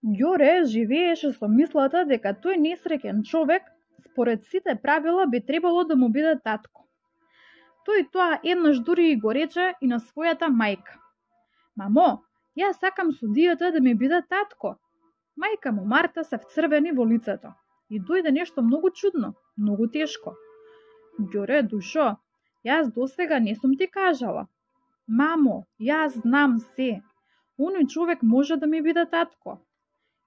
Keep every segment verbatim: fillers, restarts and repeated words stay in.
Ѓоре живееше со мислата дека тој несреќен човек, според сите правила, би требало да му биде татко. Тој тоа еднаш дури и го рече и на својата мајка. Мамо, јас сакам судијата да ми биде татко. Мајка му Марта се вцрвени во лицето и дојде нешто многу чудно, многу тешко. Ѓоре, душо, јас досега не сум ти кажала. Мамо, јас знам се. Оној човек може да ми биде татко.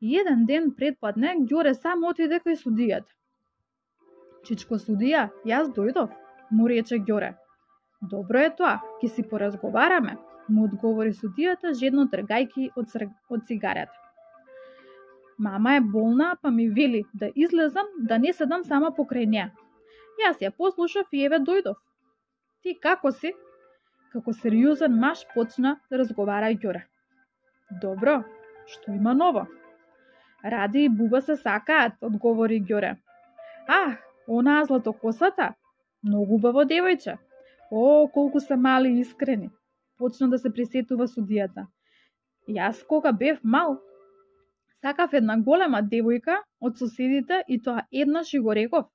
И еден ден предпладне Ѓоре сам отиде кај судијата. Чичко судија, јас дојдов, му рече Ѓоре. Добро е тоа, ќе си поразговараме, му одговори судијата, жедно тргајки од, од цигарета. Мама е болна, па ми вели да излезам, да не седам сама покрај неа. Јас ја послушав и еве дојдов. Ти како си? Како сериозен маж почна да разговара Ѓоре. Добро, што има ново? Ради и Буба се сакаат, одговори Ѓоре. Ах, онаа златокосата, многу убаво девојче. О, колку се мали и искрени. Почна да се присетува судијата. Јас кога бев мал, сакав една голема девојка од соседите и тоа еднаш и го реков.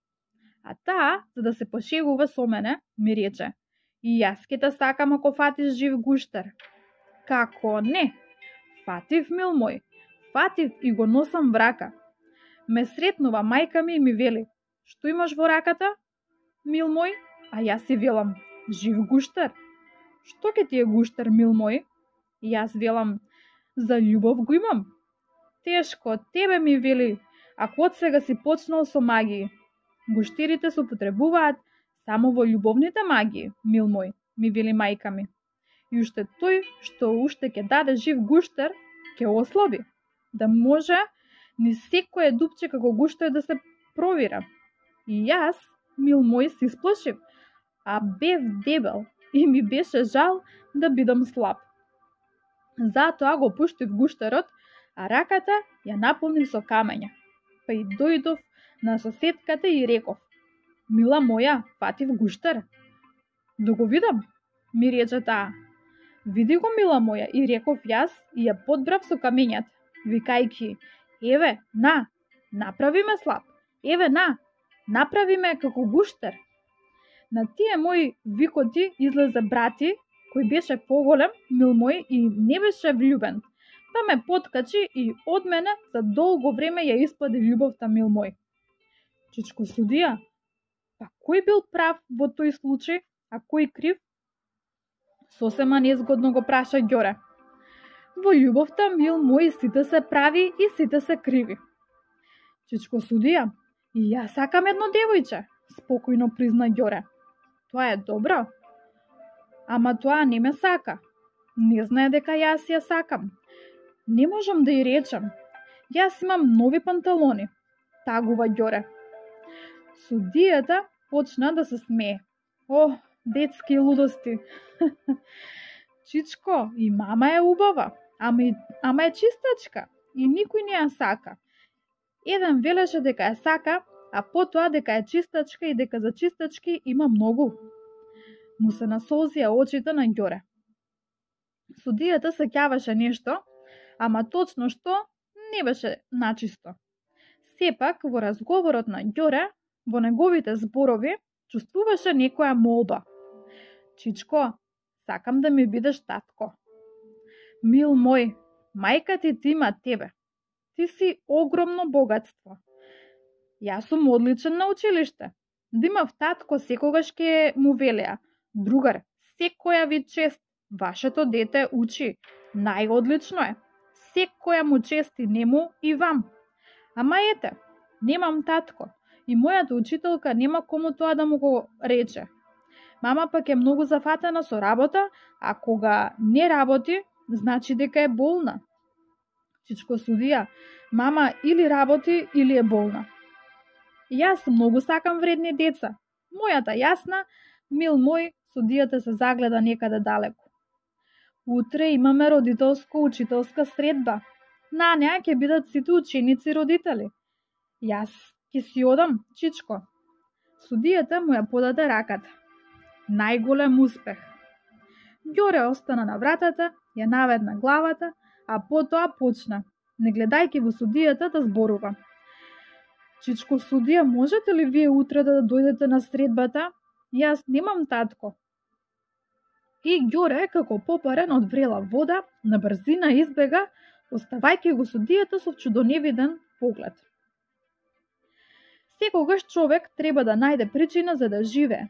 А таа, за да се пошегува со мене, ми рече: и јас ке те сакам ако фатиш жив гуштер. Како не? Фатив, мил мој, фатив и го носам в рака. Ме сретнува мајка ми и ми вели: што имаш во раката, мил мој? А јас си велам: жив гуштер. Што ке ти е гуштер, мил мој? И јас велам: за љубов го имам. Тешко, тебе ми вели, ако од сега си почнал со магии. Гуштерите се употребуваат само во љубовните магии, мил мој, ми вели мајка ми. И уште тој што уште ќе даде жив гуштер, ќе ослаби, да може ни секое дупче како гуштер да се провира. И јас, мил мој, се исплашив, а бев дебел и ми беше жал да бидам слаб. Затоа го пуштив гуштерот, а раката ја наполнив со камења. Па и дојдов на соседката и реков: мила моја, фатив гуштер. Да го видам, ми рече таа. Види го, мила моја, и реков јас и ја подбрав со камењата, викајки: еве, на, направи ме слаб, еве, на, направи ме како гуштер. На тие мои викоти излезе брати, кој беше поголем, мил мој, и не беше влюбен. Па ме поткачи и од мене за долго време ја испади љубовта, мил мој. Чичко судија, па кој бил прав во тој случај, а кој крив? Сосема незгодно го праша Ѓоре. Во љубовта, мил мој, сите се прави и сите се криви. Чичко судија, и јас сакам едно девојче, спокојно призна Ѓоре. Тоа е добро, ама тоа не ме сака. Не знае дека јас ја сакам. Не можам да ја речам. Јас имам нови панталони, тагува Ѓоре. Судијата почна да се смее. О, детски лудости. Чичко, и мама е убава, ама, и, ама е чистачка и никој не ја сака. Еден велеше дека ја сака, а потоа дека е чистачка и дека за чистачки има многу. Му се насолзија очите на Ѓоре. Судијата се ќаваше нешто, ама точно што не беше начисто. Сепак во разговорот на Ѓоре, во неговите зборови, чувствуваше некоја молба. Чичко, сакам да ми бидеш татко. Мил мој, мајка ти ти има тебе. Ти си огромно богатство. Јас сум одличен на училиште. Да имав татко секогаш ке му велеа: другар, секоја ви чест, вашето дете учи, најодлично е. Секоја му чести нему и вам. Ама ете, немам татко и мојата учителка нема кому тоа да му го рече. Мама пак е многу зафатена со работа, а кога не работи, значи дека е болна. Чичко судија, мама или работи, или е болна. Јас многу сакам вредни деца. Мојата јасна, мил мој, судијата се загледа некаде далеко. Утре имаме родителско-учителска средба. На неа ќе бидат сите ученици родители. Јас ќе си одам, Чичко. Судијата му ја подаде раката. Најголем успех. Ѓоре остана на вратата, ја наведна главата, а потоа почна. не гледајќи во судијата да зборува. Чичко судија, можете ли вие утре да дојдете на средбата? Јас немам татко. И Ѓоре, како попарен од врела вода, на брзина избега, оставајќи го судијата со чудоневиден поглед. Секогаш човек треба да најде причина за да живее,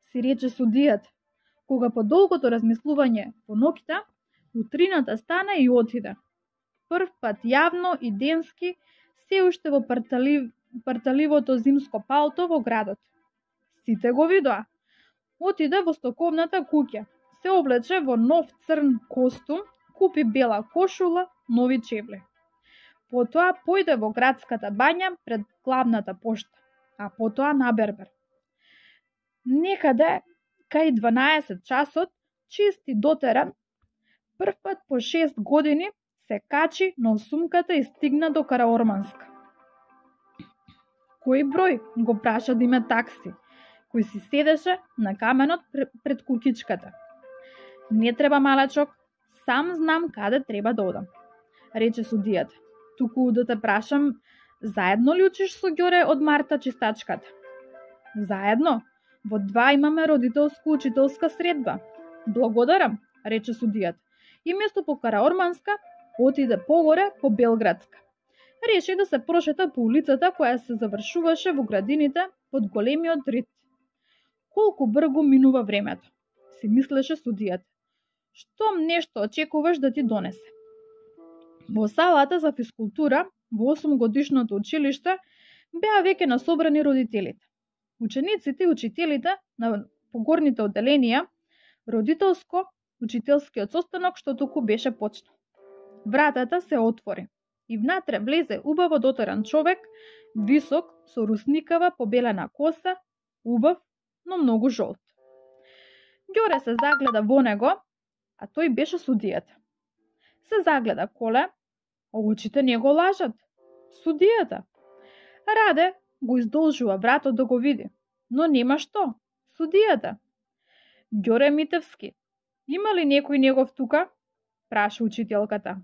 си рече судијата, кога по долгото размислување по ноќта, утрината стана и отиде. Прв пат јавно и денски, се уште во парталив, парталивото зимско палто во градот. Сите го видоа. Отиде во стоковната куќа, се облече во нов црн костум, купи бела кошула, нови чевли. Потоа појде во градската бања пред главната пошта, а потоа на бербер. Некаде кај дванаесет часот, чист и дотеран, прв пат по шест години се качи на осумката и стигна до Караорманска. Кој број, го праша Диме такси, кој си седеше на каменот пред куќичката. Не треба, малечок, сам знам каде треба да одам, рече судијата. Туку да те прашам, заедно ли учиш со Ѓоре од Марта чистачката? Заедно? Во два имаме родителско-учителска средба. Благодарам, рече судијата. И место по Караорманска отиде погоре по Белградска. Реши да се прошета по улицата која се завршуваше во градините под големиот рид. Колку брзо минува времето, си мислеше судијата. Штом нешто очекуваш да ти донесе. Во салата за физкултура во осумгодишното училиште беа веќе насобрани родителите. Учениците и учителите на погорните одделенија, родителско учителскиот состанок што току беше почнал. Вратата се отвори и внатре влезе убаво дотеран човек, висок, со русникава побелена коса, убав, но многу жолт. Ѓоре се загледа во него, а тој беше судијата. Се загледа коле, а очите не го лажат. Судијата. Раде го издолжува вратот да го види, но нема што. Судијата. Ѓоре Митевски, има ли некој негов тука? Праша учителката.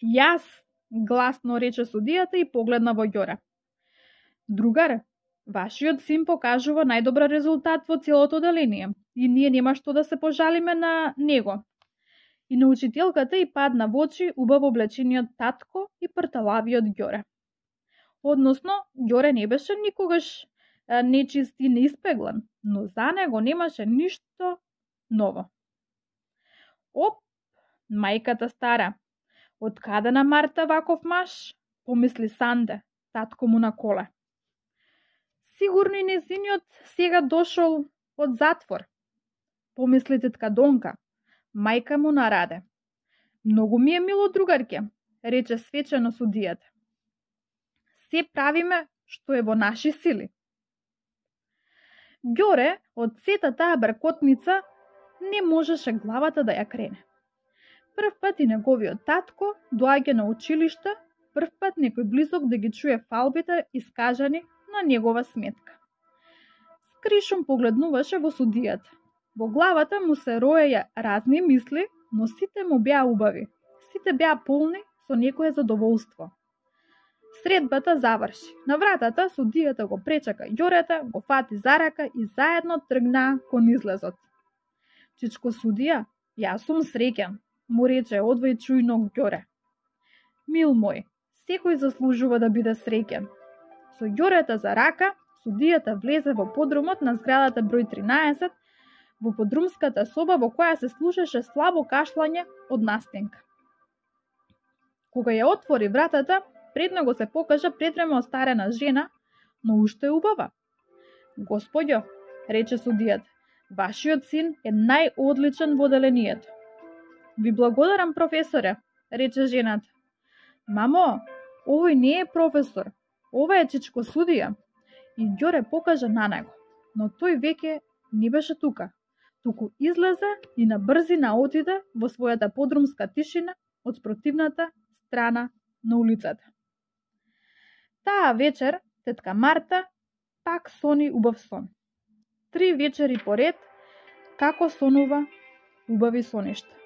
Јас, гласно рече судијата и погледна во Ѓоре. Другар, вашиот син покажува најдобар резултат во целото одделение и ние нема што да се пожалиме на него. И на учителката и падна во очи убаво облечениот татко и прталавиот Ѓоре. Односно, Ѓоре не беше никогаш нечист и неиспеглан, но за него немаше ништо ново. Оп, мајката стара, од каде на Марта ваков маж? Помисли Санде, татко му на коле. Сигурно и незиниот сега дошол од затвор. Помисли тетка Донка, мајка му на Раде. Многу ми е мило, другарке, рече свечено судијата. Се правиме што е во наши сили. Ѓоре од сета таа бркотница не можеше главата да ја крене. Прв пат и неговиот татко доаѓа на училиште, прв пат некој близок да ги чуе фалбите искажани на негова сметка. Скришом погледнуваше во судијата. Во главата му се роеја разни мисли, но сите му беа убави. Сите беа полни со некое задоволство. Средбата заврши. На вратата судијата го пречака Ѓорета, го фати за рака и заедно тргнаа кон излезот. Чичко судија, јас сум среќен, му рече одвај чујно Ѓоре. Мил мој, секој заслужува да биде среќен. Со Ѓорета за рака, судијата влезе во подрумот на зградата број тринаесет, во подрумската соба во која се слушаше слабо кашлање од настенка. Кога ја отвори вратата, пред него се покажа претрема остарена жена, но уште убава. Господјо, рече судијата, вашиот син е најодличен во одделението. Ви благодарам, професоре, рече жената. Мамо, овој не е професор, ова е чичко судија. И Ѓоре покажа на него, но тој веќе не беше тука. Туку излезе и на брзина отиде во својата подрумска тишина од спротивната страна на улицата. Таа вечер тетка Марта пак сони убав сон. Три вечери поред, како сонува убави соништа.